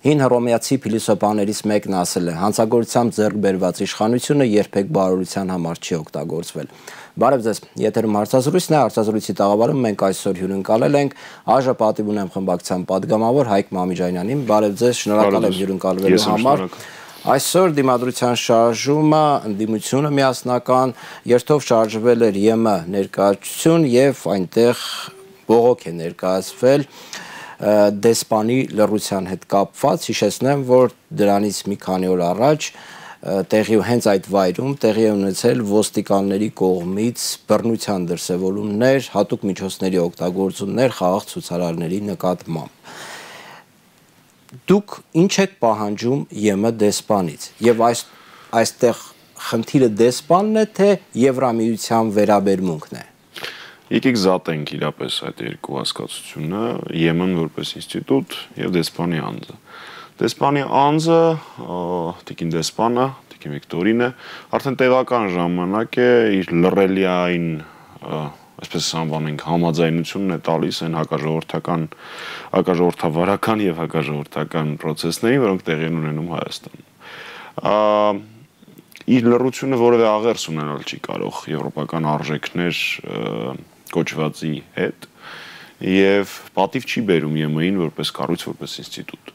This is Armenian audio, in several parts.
Հին հռոմեացի փիլիսոփաներից մեկն ասել է. հանցագործությամբ ձեռք բերված իշխանությունը երբեք բարօրության համար չի օգտագործվել։ Բարև ձեզ, եթերում հարցազրույցն է, հարցազրույցի տաղավարում մենք այսօր հյուրընկալել ենք ԱԺ պատիվ ունեմ խմբակցության պատգամավոր Հայկ Մամիջանյանին։ Բարև ձեզ, շնորհակալ եմ հյուրընկալվելու համար։ Այսօր դիմադրության շարժումը, ընդդիմությունը միասնական երթով շարժվել էր ԵՄ ներկայացություն եւ այնտեղ բողոք է ներկայացվել դեսպանի լռության հետ կապված, հիշեցնեմ, որ դրանից մի քանի օր առաջ հենց այդ վայրում տեղի է ունեցել ոստիկանների կողմից բռնության դրսևորումներ, հատուկ միջոցների օգտագործումներ խաղաղ ցուցարարների նկատմամբ։ Դուք ինչ եք պահանջում ԵՄ դեսպանից եւ այստեղ խնդիրը դեսպանն է, թե Եվրամիության վերաբերմունքն է։ Եկեք զատենք իրապես այդ երկու հասկացությունը, ԵՄ-ն որպես ինստիտուտ եւ դեսպանի անձը։ Դեսպանի անձը, տիկին դեսպանը, տիկին Վիկտորինը, արդեն տեղական ժամանակ է իր լռելիային, այսպես անվանենք, համաձայնությունն է տալիս այն հակաժողովրդավարական եւ հակաժողովրդական process-ներին, որոնք տեղի են ունենում Հայաստանում։ Իր լռությունը որևէ աղերս ունենալ չի կարող եվրոպական արժեքներ կոչվածի հետ եւ պատիվ չի բերում ԵՄ-ին որպես կառույց, որպես ինստիտուտ։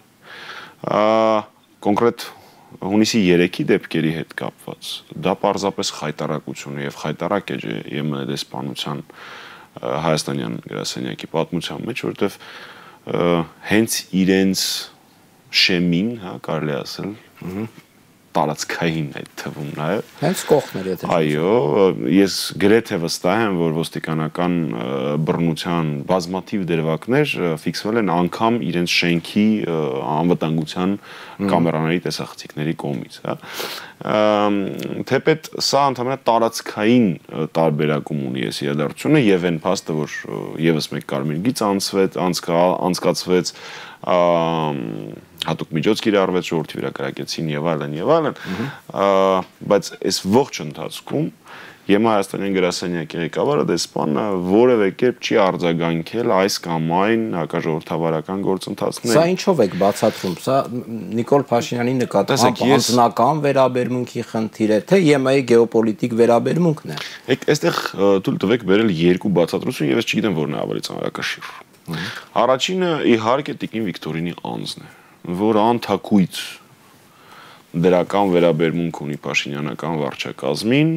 Կոնկրետ հունիսի 3-ի դեպքերի հետ կապված դա պարզապես խայտարակություն է եւ խայտարակ է ԵՄ դեսպանության հայաստանյան գրասենյակի պատմության մեջ, որովհետեւ հենց իրենց շեմին, կարելի ասել, տարածքային այդ թվում նաև հենց կողքներ եթե այո, ես գրեթե վստահ եմ, որ ոստիկանական բռնության բազմաթիվ դրվագներ ֆիքսվել են անգամ իրենց շենքի անվտանգության կամերաների տեսախցիկների կողմից, թեպետ սա ընդհանրապես տարածքային տարբերակում ունի այս իրադարձությունը եւ այն փաստը, որ եւս մեկ կարմիր գիծ անցկացվեց հատուկ միջոց կիրառվեց, ժողովրդի վրա կրակեցին եւ այլն, բայց այս ողջ ընթացքում ԵՄ Հայաստանյան գրասենյակի ղեկավարը դեսպանը որևէ կերպ չի արձագանքել այս կամ այն հակաժողովրդավարական գործընթացներին։ Սա ինչով եք բացատրում, սա Նիկոլ Փաշինյանի նկատմամբ անձնական վերաբերմունքի խնդիր է, թե ԵՄ-ի գեոպոլիտիկ վերաբերմունքն է։ Այստեղ թույլ տվեք բերել երկու բացատրություն եւ ես չգիտեմ որն է ավելի ծանրակշիռ։ Առաջինը իհարկե տիկին Վիկտորինի անձն է, որ անթակույց դրական վերաբերմունք ունի Փաշինյանական վարչակազմին,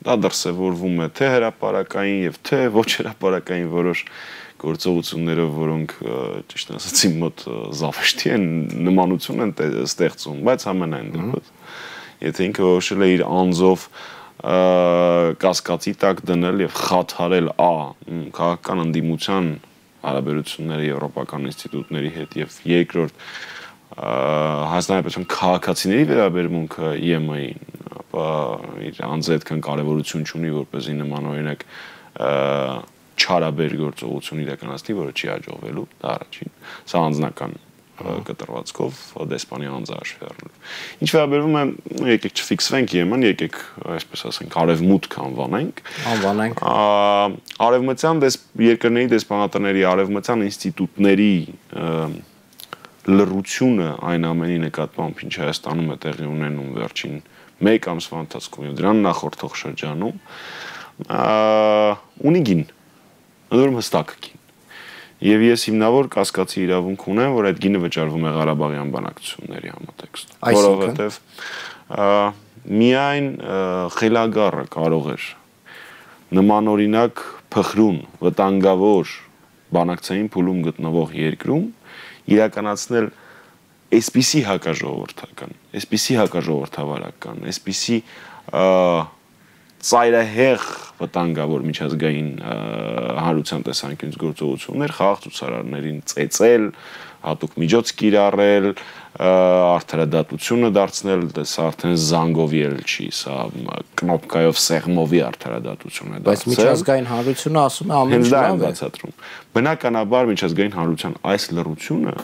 դա դրսևորվում է թե հրապարակային եւ թե ոչ հրապարակային որոշ գործողություններով, որոնք ճիշտ ասած իմ մոտ զավեշտի են, նմանություն են ստեղծում, բայց ամենայն դեպս եթե ինքը որոշել է իր անձով կասկածի տակ դնել եւ խաթարել քաղաքական ընդդիմության հարաբերությունները եվրոպական ինստիտուտների հետ եւ երկրորդ Հայաստանի Հանրապետության քաղաքացիների վերաբերմունքը ԵՄ-ին, ապա իր անձը այդքան կարևորություն չունի, որպեսզի նման օրինակ չարաբեր գործողություն իրականացնի, որը չի հաջողվելու, դա առաջին, սա անձնական կտրվածքով դեսպանի անձը հաշվի առնելով։ Ինչ վերաբերում է, եկեք չֆիքսվենք ԵՄ-ն, եկեք այսպես ասենք արևմուտք անվանենք։ Արևմտյան երկրների դեսպանատների, արևմտյան ինստիտուտների լռությունը այն ամենի նկատմամբ, ինչ Հայաստանում է տեղի ունենում վերջին 1 ամսվա ընթացքում եւ դրան նախորդող շրջանում, ունի գին, ընդհանուր հստակ գին։ Եվ ես հիմնավոր կասկածի իրավունք ունեմ, որ այդ գինը վճարվում է Ղարաբաղյան բանակցությունների համատեքստում, որովհետեւ միայն խելագարը կարող էր նմանօրինակ փխրուն, վտանգավոր բանակցային փուլում գտնվող երկրում իրականացնել այսպիսի հակաժողովրդական, այսպիսի հակաժողովրդավարական, այսպիսի ծայրահեղ վտանգավոր միջազգային հանրության տեսանկյունից գործողություններ խաղաղ ցուցարարներին ծեծել, հատուկ միջոց կիրառել, արդարադատությունը դարձնել, սա արդեն զանգովի էլ չի, սա կնոպկայով սեղմովի արդարադատություն է դարձել։ Բայց միջազգային հանրությունը ասում է ամեն ինչ լավ է բացատրում։ Բնականաբար միջազգային հանրության այս լռությունը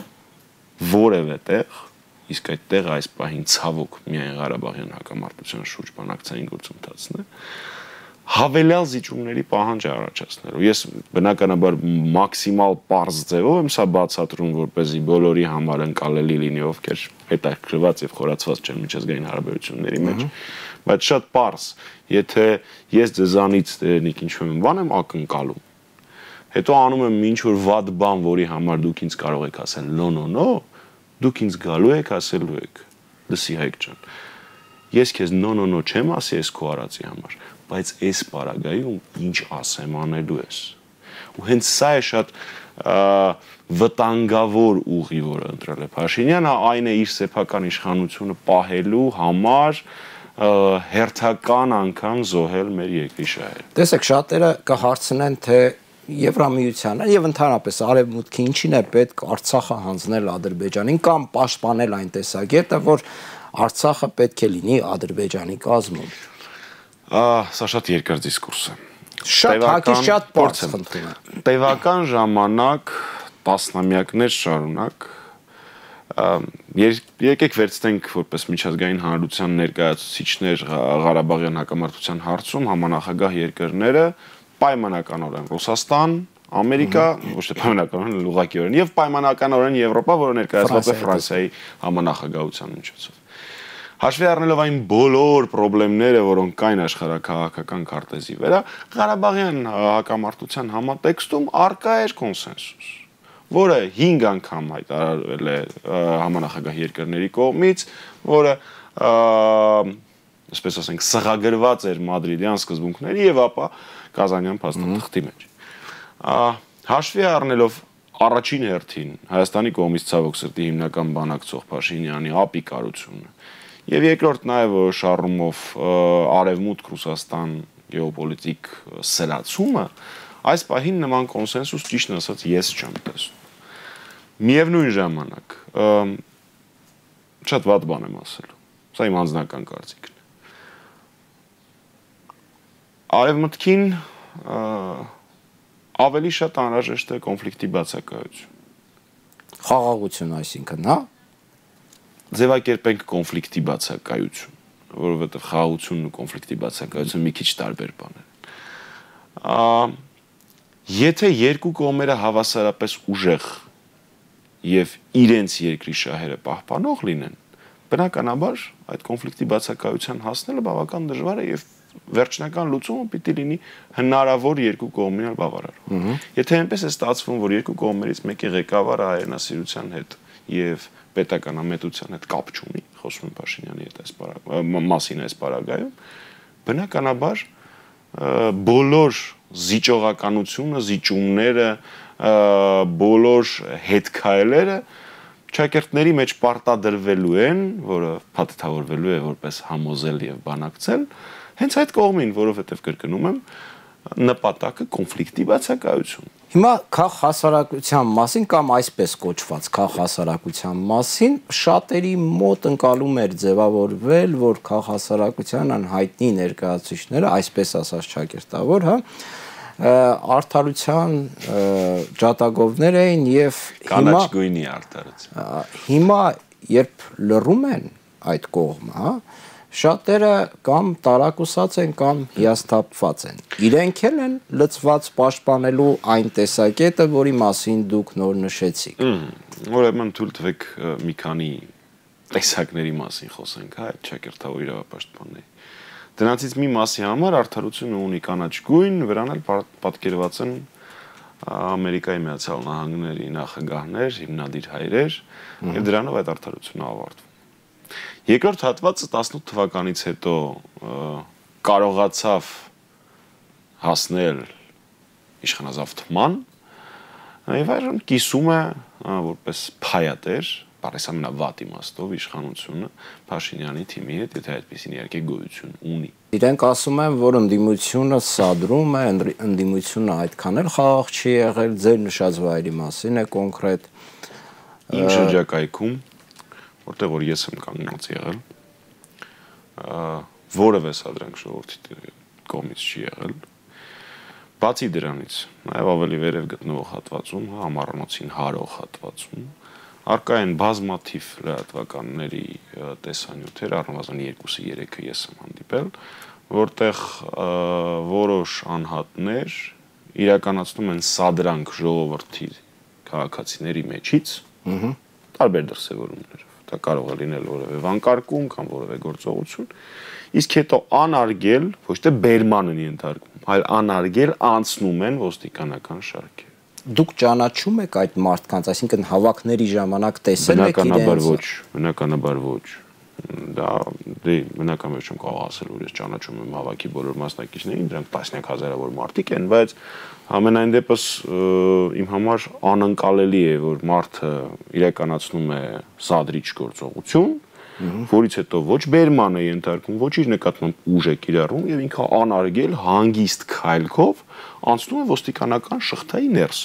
որևէ տեղ, իսկ այդ տեղը այս պահին ցավոք միայն Ղարաբաղյան հակամարտության շուրջ բանակցային գործընթացն է, հավելյալ զիջումների պահանջ առաջացնելու։ Ես բնականաբար մաքսիմալ պարզ ձևով եմ սա բացատրում, որպեսզի բոլորի համար ընկալելի լինի, ովքեր հետաքրքրված եւ խորացված չեն միջազգային հարաբերությունների մեջ, բայց շատ պարզ, եթե ես ձեզանից դերնիկ ինչ-որ բան եմ ակնկալում, հետո անում եմ ինչ-որ վատ բան, որի համար դուք ինձ կարող եք ասել no, դուք ինձ գալու եք ասելու եք, լսի Հայկ ջան, ես քեզ no չեմ ասի այս քո արածի համար, բայց այս պարագայում ինչ ասեմ անելու ես։ Ու հենց սա է շատ վտանգավոր ուղի, որը ընտրել է Փաշինյանը, այն է իր սեփական իշխանությունը պահելու համար հերթական անգամ զոհել մեր երկրի շահերը։ Տեսեք, շատերը կհարցնեն, թե Եվրամիությանը եւ ընդհանրապես Արևմուտքի ինչին է պետք Արցախը հանձնել Ադրբեջանին կամ պաշտպանել այն տեսակետը, որ Արցախը պետք է լինի Ադրբեջանի կազմում։ Սա շատ երկար դիսկուրս է։ Շատ հակի շատ բարձ խնդիր է։ Տևական ժամանակ, տասնամյակներ շարունակ եկեք վերցնենք որպես միջազգային հանրության ներկայացուցիչներ Ղարաբաղյան հակամարտության հարցում համանախագահ երկրները պայմանականորեն Ռուսաստան, Ամերիկա, ոչ թե պայմանականորեն ուղղակիորեն եւ պայմանականորեն Եվրոպա, որը ներկայացված է Ֆրանսիայի համանախագահության միջոցով։ Հաշվի առնելով այն բոլոր խնդիրները, որոնք կային աշխարհաքաղաքական քարտեզի վրա, Ղարաբաղյան հակամարտության համատեքստում արկա էր կոնսենսուս, որը 5 անգամ հայտարարվել է համանախագահ երկրների կողմից, որը այսպես ասենք սղագրված էր Մադրիդյան սկզբունքների եւ ապա Կազանյան փաստաթղթի մեջ։ Հաշվի առնելով առաջին հերթին Հայաստանի կողմից ցավոք սրտի հիմնական բանակցող Փաշինյանի ապիկարությունը եւ երկրորդ նաեւ շարժումով Արևմուտք Ռուսաստան գեոպոլիտիկ սրացումը, այս պահին նման կոնսենսուս ճիշտ ասած ես չեմ տեսնում։ Միևնույն ժամանակ շատ վատ բան եմ ասելու։ Սա իմ անձնական կարծիքն է։ Արևմուտքին ավելի շատ անհրաժեշտ է կոնֆլիկտի բացակայություն։ Խաղաղություն, այսինքն, հա։ Ձևակերպենք կոնֆլիկտի բացակայություն, որովհետև խաղաղությունն ու կոնֆլիկտի բացակայությունը մի քիչ տարբեր բաներ են։ Եթե երկու կողմերը հավասարապես ուժեղ եւ իրենց երկրի շահերը պահպանող լինեն, բնականաբար այդ կոնֆլիկտի բացակայության հասնելը բավական դժվար է եւ վերջնական լուծումը պիտի լինի հնարավոր երկու կողմերն բավարարող։ Եթե այնպես է ստացվում, որ երկու կողմերից մեկի ղեկավարը հայրենասիրության հետ եւ պետական ամետության հետ կապ չունի, խոսում եմ Փաշինյանի հետ այս մասին այս պարագայում, բնականաբար բոլոր զիջողականությունը, զիջումները, բոլոր հետքայլերը ճակերտների մեջ պարտադրվելու են, որը փաթեթավորվելու է որպես համոզել եւ բանակցել, հենց այդ կողմին, որովհետեւ կրկնում եմ, նպատակը կոնֆլիկտի բացակայություն։ Հիմա քաղաքահասարակության մասին կամ այսպես կոչված քաղաքահասարակության մասին շատերի մոտ ընկալում էր ձևավորվել, որ քաղաքահասարակության անհայտնի ներկայացուցիչները, այսպես ասած ճակերտավոր, հա, արդարության ջատագովներ էին եւ կանաչ գույնի արդարություն։ Հիմա երբ լռում են այդ կողմը, հա, շատերը կամ տարակուսած են կամ հիասթափված են։ Իրենք էլ են լծված պաշտպանելու այն տեսակետը, որի մասին դուք նոր նշեցիք։ Ուրեմն թույլ տվեք մի քանի տեսակների մասին խոսենք, հա, այդ ճակերտավոր իրավապաշտպանների։ Դրանցից մի մասի համար արդարությունը ունի կանաչ գույն, վրան էլ պատկերված են Ամերիկայի Միացյալ Նահանգների նախագահներ, հիմնադիր հայրեր, եւ դրանով այդ արդարությունը ավարտվում։ Երկրորդ հատվածը 18 թվականից հետո կարողացավ հասնել իշխանազավթման եւ այժմ կիսում է որպես փայատեր, բարես ամենավատ իմաստով իշխանությունը Փաշինյանի թիմի հետ, եթե այդպեսին իհարկե գոյություն ունի։ Իրենք ասում են, որ ընդդիմությունը սադրում է, ընդդիմությունը այդքան էլ խաղաղ չի եղել, ձեր նշած վայրի մասին է կոնկրետ։ Ինչ շրջակայքում, որտեղ որ ես եմ կանգնած եղել, որևէ սադրանք ժողովրդի կողմից չի եղել։ Բացի դրանից, նաև ավելի վերև գտնվող հատվածում, համառանոցին հարող հատվածում, արկա են բազմաթիվ լրատվականների տեսանյութեր, առնվազն 2-3-ը ես եմ հանդիպել, որտեղ որոշ անհատներ իրականացնում են սադրանք ժողովրդի քաղաքացիների մեջից, տարբեր դրսևորումներով։ Դա կարող է լինել որևէ վանկարկում կամ որևէ գործողություն, իսկ հետո անարգել, ոչ թե բերման են ենթարկվում, այլ անարգել անցնում են ոստիկանական շարքեր։ Դուք ճանաչում եք այդ մարդկանց, այսինքն հավաքների ժամանակ տեսել եք իրենց։ Բնականաբար ոչ։ Դա բնական մեջ չեմ կարող ասել, որ ես ճանաչում եմ հավաքի բոլոր մասնակիցներին, դրանք տասնյակ հազարավոր մարդիկ են, բայց ամենայն դեպս իմ համար անընկալելի է, որ մարդը իրականացնում է սադրիչ գործողություն, որից հետո ոչ բերման է ենթարկվում, ոչ իր նկատմամբ ուժ է կիրառում եւ ինքը անարգել հանգիստ քայլքով անցնում է ոստիկանական շղթայի ներս։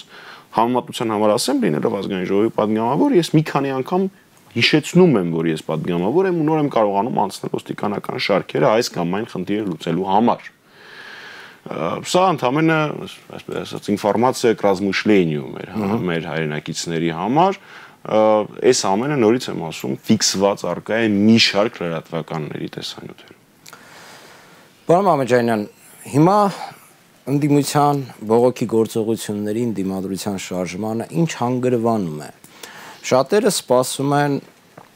Համեմատության համար ասեմ, լինելով ազգային ժողովի падգամավոր, ես մի քանի անգամ հիշեցնում եմ, որ ես падգամավոր եմ ու նոր եմ կարողանում անցնել ոստիկանական շարքերը այս կամ այն խնդիրը լուծելու համար։ Սա ընդհանրապես, այսպես ասած, ինֆորմացիա к размышлению մեր հայրենակիցների համար, այս ամենը նորից եմ ասում, ֆիքսված արկա է մի շարք լրատվականների տեսանյութերում։ Պարոն Մամեջանյան, հիմա ընդդիմության բողոքի գործողությունների ընդդիմադրության շարժմանը ինչ հանգրվանում է։ Շատերը սպասում են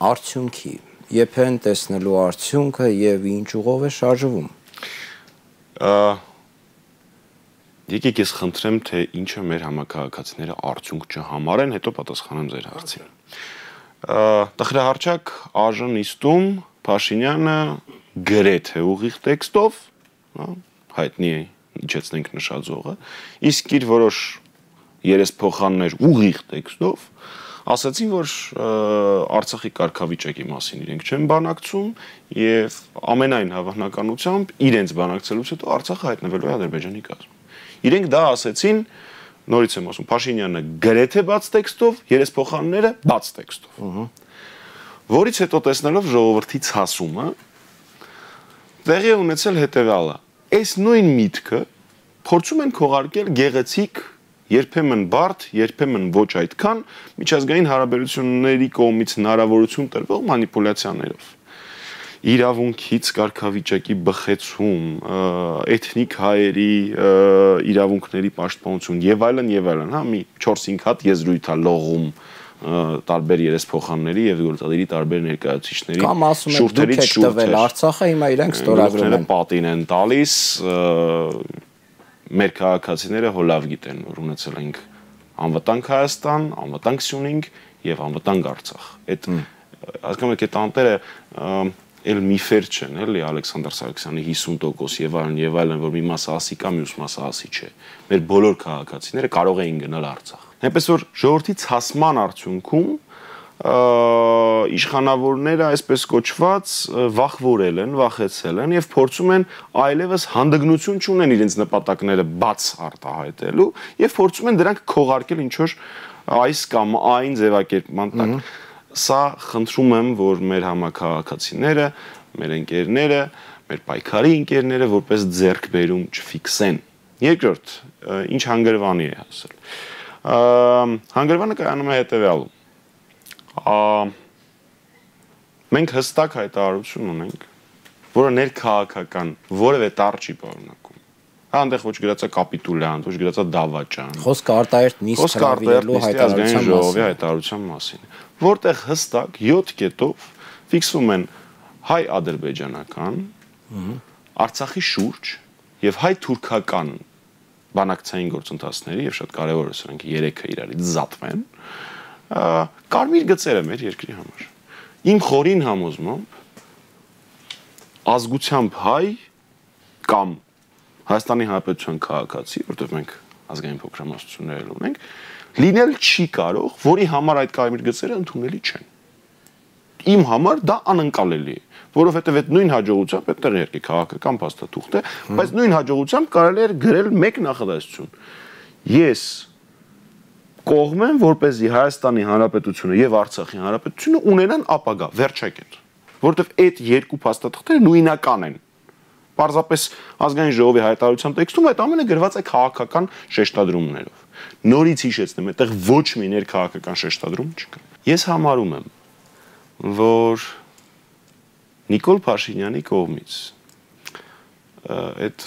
արդյունքի, երբեն տեսնելու արդյունքը եւ ինչ ուղով է շարժվում։ Եկեք ես խնդրեմ, թե ինչը մեր համակարգացիները արդյունք չհամարեն, հետո պատասխանեմ ձեր հարցին։ Տխրահարճակ ԱԺ-նիստում Փաշինյանը գրեթե ուղիղ տեքստով, հայտնի է իջեցնենք նշաձողը, իսկ իր որոշ երեսփոխաններ ուղիղ տեքստով ասացին, որ Արցախի կարգավիճակի մասին իրենք չեն բանակցում եւ ամենայն հավանականությամբ իրենց բանակցելուց հետո Արցախը հայտնվելու է Ադրբեջանի կազմում։ Իրենք դա ասեցին, նորից եմ ասում, Փաշինյանը գրեթե բաց տեքստով, երեսփոխանները բաց տեքստով։ Որից հետո տեսնելով ժողովրդի ցասումը, տեղի ունեցել հետեւյալը. այս նույն միտքը փորձում են քողարկել գեղեցիկ, երբեմն բարդ, երբեմն ոչ այդքան միջազգային հարաբերությունների կողմից հնարավորություն տրվող մանիպուլյացիաներով։ Իրավունքից կարգավիճակի բխեցում, էթնիկ հայերի իրավունքների պաշտպանություն եւ այլն, հա, մի 4-5 հատ եզրույթ է լողում տարբեր երեսփոխանների եւ գործադիրի տարբեր ներկայացուցիչների կամ ասում եք դուք եք տվել Արցախը, հիմա իրենք ստորագրում են, պատին են տալիս, մեր քաղաքացիները հոլավ գիտեն, որ ունեցել ենք անվտանգ Հայաստան, անվտանգ Սյունիք եւ անվտանգ Արցախ։ Այդ հասկանում եք, այդ անտերը էլ միֆեր չեն, էլի Ալեքսանդր Սարգսյանի 50% եւ այլն, որ մի մասը ասի կա, մյուս մասը ասի չէ։ Մեր բոլոր քաղաքացիները կարող էին գնալ Արցախ։ Այնպես որ ժողովրդի ցասման արդյունքում իշխանավորները այսպես կոչված վախվորել են, վախեցել են եւ փորձում են այլևս հանդգնություն չունեն իրենց նպատակները բաց արտահայտելու եւ փորձում են դրանք քողարկել ինչ որ այս կամ այն ձևակերպման տակ։ Սա խնդրում եմ, որ մեր համակարգացիները, մեր ընկերները, մեր պայքարի ընկերները որպես ձեռքբերում չֆիքսեն։ Երկրորդ, ինչ հանգրվանի է հասել։ Հանգրվանը կայանում է հետեւյալում։ Մենք հստակ հայտարարություն ունենք, որը ներքաղաքական որևէ տառ չի պարունակում։ Այնտեղ ոչ գրած է կապիտուլյանտ, ոչ գրած է դավաճան։ Խոսքը արտահերթ նիստ հրավիրելու հայտարարության մասին, որտեղ հստակ 7 կետով ֆիքսվում են հայ-ադրբեջանական, Արցախի շուրջ եւ հայ-թուրքական բանակցային գործընթացների եւ շատ կարեւոր է սրանք 3-ը իրարից զատվեն, կարմիր գծերը մեր երկրի համար։ Իմ խորին համոզմամբ ազգությամբ հայ կամ Հայաստանի Հանրապետության քաղաքացի, որտեղ մենք ազգային փոքրամասնություններ ունենք, լինել չի կարող, որի համար այդ կարմիր գծերը ընդունելի չեն։ Իմ համար դա անընկալելի է, որովհետև այդ նույն հաջողությամբ այդտեղ երկի քաղաքական փաստաթուղթ է, բայց նույն հաջողությամբ կարելի է գրել մեկ նախադասություն։ Ես կողմ եմ, որպեսզի Հայաստանի Հանրապետությունը եւ Արցախի Հանրապետությունը ունենան ապագա, վերջակետ, որովհետև այդ երկու փաստաթղթերը նույնական են։ Պարզապես ազգային ժողովի հայտարարության տեքստում այդ ամենը գրված է քաղաքական շեշտադրումներով։ Նորից հիշեցնեմ, այդտեղ ոչ մի ներքաղաքական շեշտադրում չկա։ Ես համարում եմ, որ Նիկոլ Փաշինյանի կողմից այդ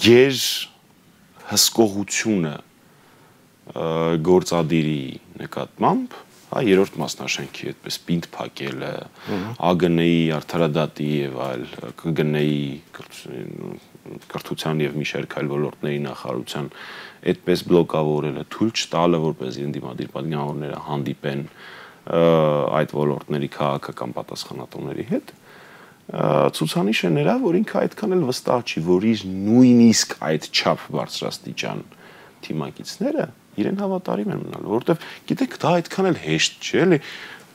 գեր հսկողությունը գործադիրի նկատմամբ, հա, երրորդ մասնաշենքի այդպես պինդ փակելը, ԱԳՆ-ի արդարադատի եւ այլ ԿԳՆ-ի կրթության եւ մի շարք այլ ոլորտների նախարարության այդպես բլոկավորելը, թույլ չտալը, որպես ընդդիմադիր պատգամավորները հանդիպեն այդ ոլորտների քաղաքական պատասխանատուների հետ, ցուցանիշ է նրա, որ ինքը այդքան էլ վստահ չի, որ իր նույնիսկ այդ չափ բարձրաստիճան թիմակիցները իրեն հավատարիմ են մնալ, որովհետև գիտեք, դա այդքան էլ հեշտ չէ, էլի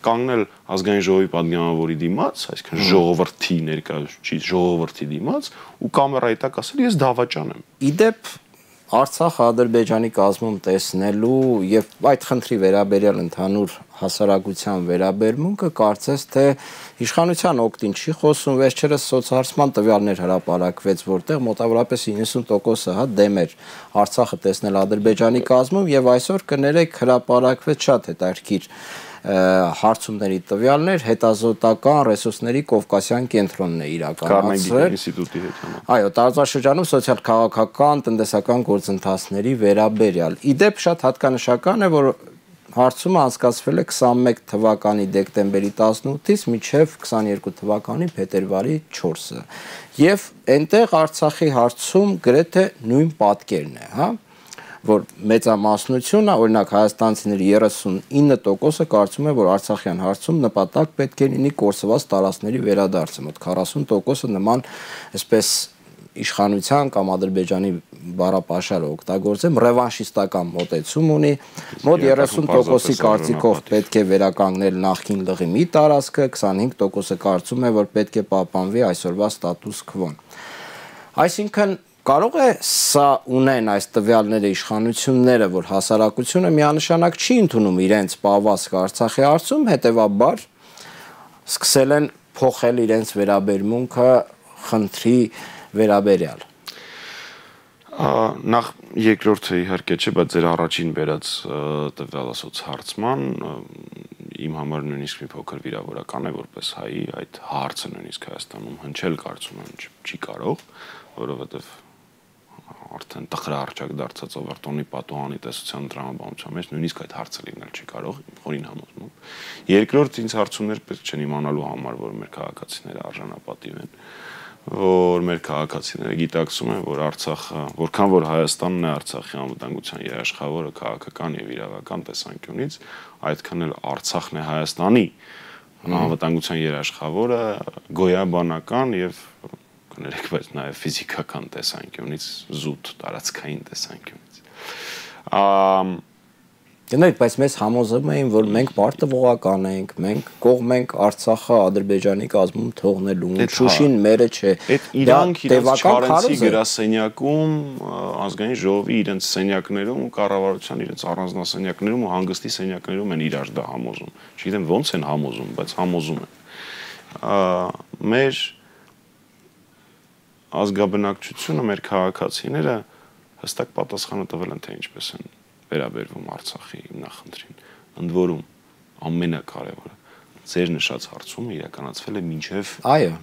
կանգնել ազգային ժողովի պատգամավորի դիմաց, այսինքն ժողովրդի ներկայացուցիչ ժողովրդի դիմաց ու կամերայի տակ ասել ես դավաճան եմ։ Իդեպ Արցախը Ադրբեջանի կազմում տեսնելու եւ այդ խնդրի վերաբերյալ ընդհանուր հասարակության վերաբերմունքը կարծես թե իշխանության օգտին չի խոսում, վերջերս սոցհարցման տվյալներ հրապարակվեց, որտեղ մոտավորապես 90%-ը հա դեմ էր Արցախը տեսնել Ադրբեջանի կազմում եւ այսօր կներեք հրապարակվեց շատ հետաքրքիր հարցումների տվյալներ հետազոտական ռեսուրսների Կովկասյան կենտրոնն է իրականացրել ինստիտուտի հետ համա։ Այո, տարածաշրջանում սոցիալ-քաղաքական, տնտեսական գործընթացների վերաբերյալ։ Իդեպ շատ հատկանշական է, որ հարցումը անցկացվել է 21 թվականի դեկտեմբերի 18-ից մինչև 22 թվականի փետրվարի 4-ը։ Եվ այնտեղ Արցախի հարցում գրեթե նույն պատկերն է, հա, որ մեծամասնությունը, օրինակ հայաստանցիների 39%-ը կարծում է, որ Արցախյան հարցում նպատակ պետք է լինի կորսված տարածքների վերադարձը, մոտ 40%-ը նման այսպես իշխանության կամ Ադրբեջանի բառապաշարը օգտագործեմ, ռևանշիստական մոտեցում ունի, մոտ 30%-ի կարծիքով պետք է վերականգնել նախկին լղի մի տարածքը, 25%-ը կարծում է, որ պետք է պահպանվի այսօրվա ստատուս քվոն։ Այսինքն կարող է սա ունեն այս տվյալները իշխանությունները, որ հասարակությունը միանշանակ չի ընդունում իրենց պահվածքը Արցախի հարցում, հետևաբար սկսել են փոխել իրենց վերաբերմունքը խնդրի վերաբերյալ։ Նախ երկրորդը իհարկե չէ, բայց ձեր առաջին բերած տվյալասոց հարցման իմ համար նույնիսկ մի փոքր վիրավորական է, որպես հայի այդ հարցը նույնիսկ Հայաստանում հնչել կարծում եմ չի կարող, որովհետև արդեն տխրահարճակ դարձած Ավարտոնի պատուհանի տեսության տրամաբանության մեջ նույնիսկ այդ հարցը լինել չի կարող, խորին համոզում։ Երկրորդ ինձ հարցումներ պետք չեն իմանալու համար, որ մեր քաղաքացիները արժանապատիվ են, որ մեր քաղաքացիները գիտակցում են, որ Արցախը, որքան որ Հայաստանն է Արցախի անվտանգության երաշխավորը քաղաքական եւ իրավական տեսանկյունից, այդքան էլ Արցախն է Հայաստանի անվտանգության երաշխավորը գոյաբանական եւ կներեք, բայց նաև ֆիզիկական տեսանկյունից, զուտ տարածքային տեսանկյունից։ Գնայք, բայց մեզ համոզում էին, որ մենք պարտավորական ենք, մենք կողմ ենք Արցախը Ադրբեջանի կազմում թողնելու, Շուշին մերը չէ։ Այդ իրանք իրենց Չարենցի գրասենյակում, ազգային ժողովի իրենց սենյակներում ու կառավարության իրենց առանձնասենյակներում ու հանգստի սենյակներում են իրար դա համոզում։ Չգիտեմ ոնց են համոզում, բայց համոզում են։ Մեր ազգաբնակչությունը, մեր քաղաքացիները հստակ պատասխանը տվել են, թե ինչպես են վերաբերվում Արցախի նախնդրին։ Ընդ որում ամենակարևորը ձեր նշած հարցումը իրականացվել է մինչև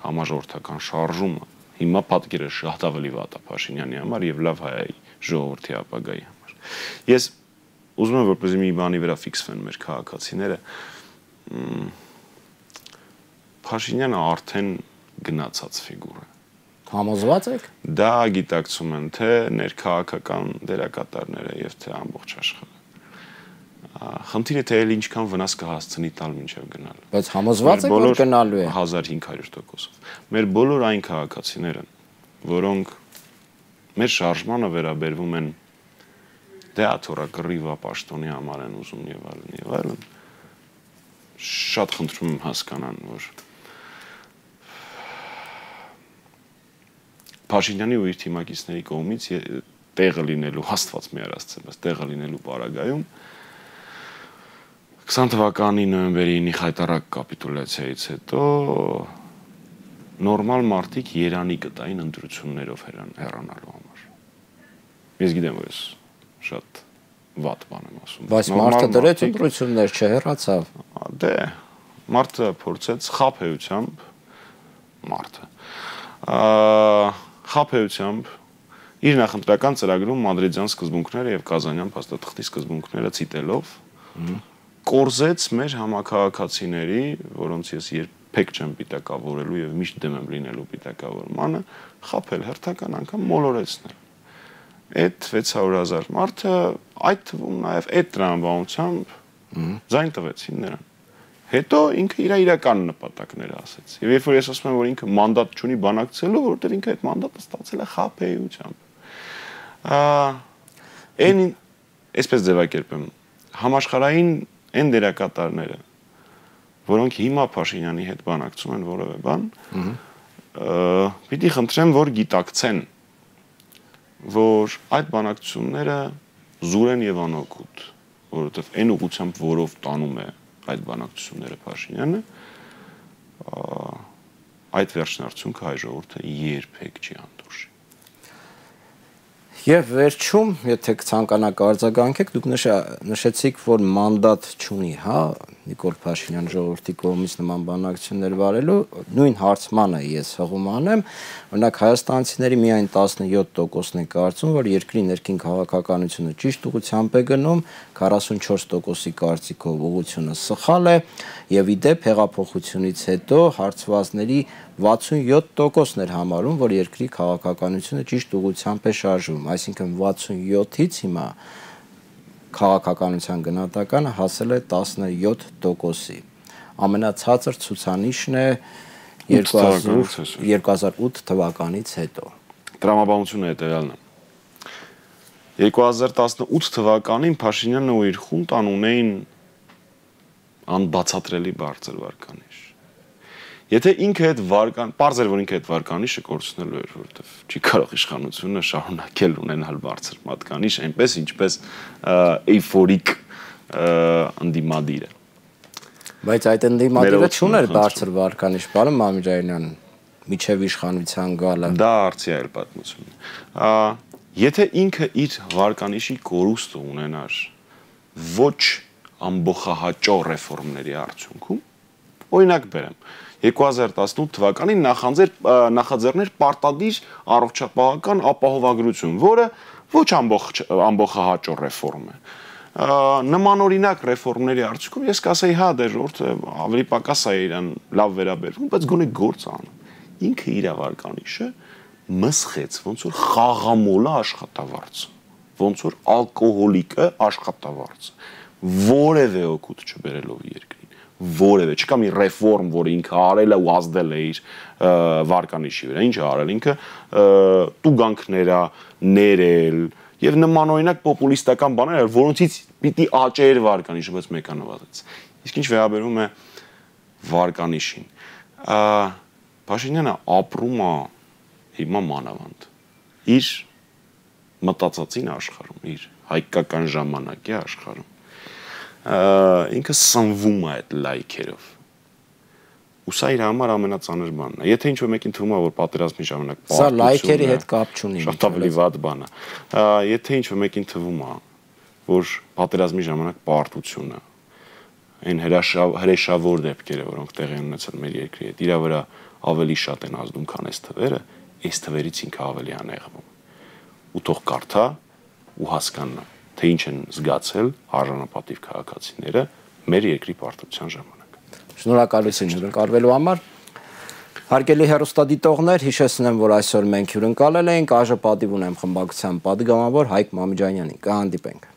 համաժողովրդական շարժումը։ Հիմա պատկերը շատ ավելի վատ է Փաշինյանի համար եւ լավ հայայի ժողովրդի ապագայի համար։ Ես ուզում եմ որպեսզի մի բանի վրա ֆիքսվեն մեր քաղաքացիները։ Փաշինյանը արդեն գնացած ֆիգուր է։ Համոզված եք։ Դա գիտակցում են թե ներքաղաքական դերակատարները եւ թե ամբողջ աշխարհը։ Խնդիրը թե էլ ինչքան վնաս կհասցնի տալ մինչև գնալ։ Բայց համոզված եք, որ գնալու է 1500%-ով։ Մեր բոլոր այն քաղաքացիները, որոնք մեր շարժմանը վերաբերվում են դե աթորա կռիվա պաշտոնի համար են ուզում եւ այլն, շատ խնդրում եմ հասկանան, որ Փաշինյանի ու իր թիմակիցների կողմից տեղը լինելու Աստված մի արածեմ, բայց տեղը լինելու պարագայում 20 թվականի նոյեմբերի 9-ի խայտառակ կապիտուլյացիայից հետո նորմալ մարդիկ Երանի կտային ընտրություններով հեռանալու համար։ Ես գիտեմ, որ ես շատ վատ բան եմ ասում։ Բայց մարդը դրեց ընտրություններ չհեռացավ։ Դե, մարդը փորձեց խաբեությամբ մարդը խաբեությամբ իր նախընտրական ծրագրում մադրիդյան սկզբունքները եւ կազանյան փաստաթղթի սկզբունքները ցիտելով կորզեց մեր համակարգացիների, որոնց ես երբեք չեմ պիտակավորելու եւ միշտ դեմ եմ լինելու պիտակավորմանը, խաբել հերթական անգամ մոլորեցնել։ Այդ 600,000 մարդը այդ թվում նաեւ այդ տրամաբանությամբ ձայն տվեցին նրան։ Հետո ինքը իր իրական նպատակները ասեց։ Եվ երբ որ ես ասում եմ, որ ինքը մանդատ չունի բանակցելու, որովհետև ինքը այդ մանդատը ստացել է խաբեությամբ։ Այն այսպես ձևակերպեմ, համաշխարհային այն դերակատարները, որոնք հիմա Փաշինյանի հետ բանակցում են որևէ բան, պիտի խնդրեմ, որ գիտակցեն, որ այդ բանակցությունները զուր են եւ անօգուտ, որովհետև այն ուղղությամբ, որով տանում է այդ բանակցությունները Փաշինյանը, այդ վերջնարդյունքը հայ ժողովուրդը երբեք չի հանդուրժի։ Եվ վերջում, եթե ցանկանաք արձագանքեք, դուք նշեցիք, որ մանդատ չունի, հա, Նիկոլ Փաշինյան ժողովրդի կողմից նման բանակցություններ վարելու, նույն հարցմանը ես հղում անեմ, օրինակ հայաստանցիների միայն 17%-ն է կարծում, որ երկրի ներքին քաղաքականությունը ճիշտ ուղղությամբ է գնում, 44%-ի կարծիքով ուղղությունը սխալ է, եւ ի դեպ հեղափոխությունից հետո հարցվածների 67%-ն էր համարում, որ երկրի քաղաքականությունը ճիշտ ուղղությամբ է շարժվում, այսինքն 67-ից հիմա քաղաքականության գնահատականը հասել է 17%-ի։ Ամենացածր ցուցանիշն է 2008 թվականից հետո։ Տրամաբանությունը հետևյալն է։ 2018 թվականին Փաշինյանը ու իր խունտան ունեին անբացատրելի բարձր վարկանիշ։ Եթե ինքը այդ պարզ էր, որ ինքը այդ վարկանիշը կորցնելու էր, որովհետև չի կարող իշխանությունը շարունակել ունենալ բարձր մատկանիշ, այնպես ինչպես էյֆորիկ ընդդիմադիրը։ Բայց այդ ընդդիմադիրը չուներ բարձր վարկանիշ, պարոն Մամիրյանյան, միջև իշխանության գալը։ Դա արծի այլ պատմություն։ Եթե ինքը իր վարկանիշի կորուստը ունենար ոչ ամբողջահաճո ռեֆորմների արդյունքում, օրինակ բերեմ 2018 թվականին նախաձեռներ պարտադիր առողջապահական ապահովագրություն, որը ոչ ամբողջահաճո ռեֆորմ է։ Նմանօրինակ ռեֆորմների արդյունքում ես կասեի, հա, դե ժողովուրդը ավելի պակաս է իրան լավ վերաբերվում, բայց գոնե գործ անում։ Ինքը իր վարկանիշը մսխեց, ոնց որ խաղամոլը աշխատավարձը, ոնց որ ալկոհոլիկը աշխատավարձը, որևէ օգուտ չբերելով երկրին, որևէ, չկա մի ռեֆորմ, որը ինքը արել է ու ազդել է իր վարկանիշի վրա, ինչ է արել ինքը, տուգանքներ ներել եւ նմանօրինակ պոպուլիստական բաներ, որոնցից պիտի աճեր վարկանիշը, բայց մեկը նվազեց։ Իսկ ինչ վերաբերում է վարկանիշին, Փաշինյանը ապրում է հիմա մանավանդ իր մտածածին աշխարհում, իր հայկական ժամանակի աշխարհում, ինքը սնվում է այդ լայքերով, ու սա իր համար ամենածանր բանն է։ Եթե ինչ-որ մեկին թվում է, որ պատերազմի ժամանակ սա լայքերի հետ կապ չունի, շատ ավելի վատ բան է։ Եթե ինչ-որ մեկին թվում է, որ պատերազմի ժամանակ պարտությունը, այն հրեշավոր դեպքերը, որոնք տեղի են ունեցել մեր երկրի հետ, իր վրա ավելի շատ են ազդում, քան այս թվերը, այս թվերից ինքը ավելի անեղվում։ Ու թող կարդա ու հասկանա, թե ինչ են զգացել արժանապատիվ քաղաքացիները մեր երկրի պարտության ժամանակ։ Շնորհակալություն հյուրընկալվելու համար։ Հարգելի հեռուստադիտողներ, հիշեցնեմ, որ այսօր մենք հյուրընկալել էինք ԱԺ պատիվ ունեմ խմբակցության պատգամավոր Հայկ Մամիջանյանին։ Կհանդիպենք։